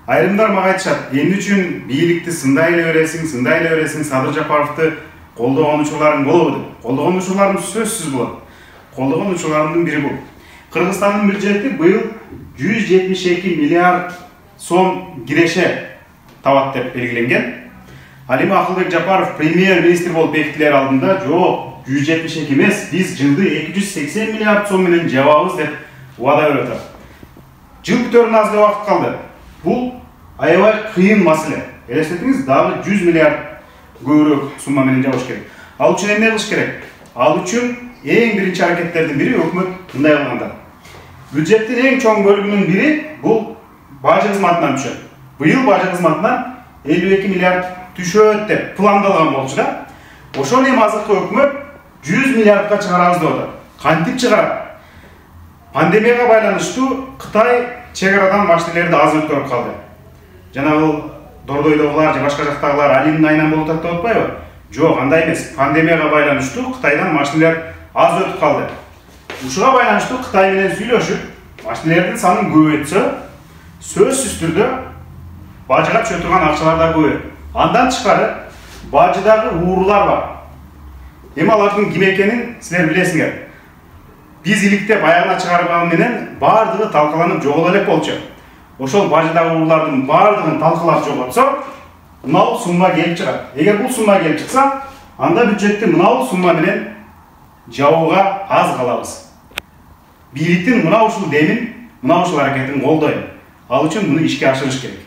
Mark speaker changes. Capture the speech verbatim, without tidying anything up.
Speaker 1: Айрымдар мага айтышат, эмне үчүн бийликти сындай эле бересиң, сындай эле бересиң, Садыр Жапаровду колдогон учурларың болобу деп. Колдогон учурларым сөзсүз болот. Колдогон учурларымдын бири бул. Кыргызстандын бюджети быйыл жүз жетимиш эки миллиард сом киреше табат деп белгиленген. Ал эми Акылбек Жапаров премьер-министр болуп бекитилер алдында жок, жүз жетимиш эки эмес, биз жылды эки жүз сексен миллиард сом менен жабабыз деп убада берип атат. Жыл бүтөрүнө аз эле убакыт калды. Бул аябай кыйын маселе. Элестетиңиз, дагы жүз миллиард көбүрөөк сумма менен жабыш керек. Ал үчүн эмне кылыш керек? Ал үчүн эң биринчи аракеттердин бири өкмөт мындай кылганда. Бюджеттин эң чоң бөлүгүнүн бири бул бажы кызматынан түшөт. Быйыл бажы кызматынан элүү эки миллиард түшөт деп пландалган болчу да. Ошол эми азыркы өкмөт жүз миллиардка чыгарабыз деп атат. Кантип чыгарат? Пандемияга байланыштуу Кытай чек арадан машинелерди аз өткөрүп калды. Жанагы Дордойдогулар же башка жактагылар алимдин айынан болуп атат деп атпайбы? Жок, андай эмес. Пандемияга байланыштуу Кытайдан машинелер аз өтүп калды. Ушуга байланыштуу Кытай менен сүйлөшүп, машинелердин санын көбөйтсө, сөзсүз түрдө бажыга түшө турган акчалар да көбөйөт. Андан тышкары бажыдагы уурулар бар. Эми алардын ким экенин силер билесиңер. Биз иликтеп аягына чыгарган менен бардыгы талкаланып жогото элек болчу. Ошол бажыдагы уруулардын бардыгын талкалап жоготсо, мынау сумма келип чыгат. Эгер бул сумма келип чыкса, анда бюджетти мынау сумма менен жабууга аз калабыз. Бийликтин мына ушул демин, мына ушул аракетин колдойм. Ал үчүн муну ишке ашырыш керек.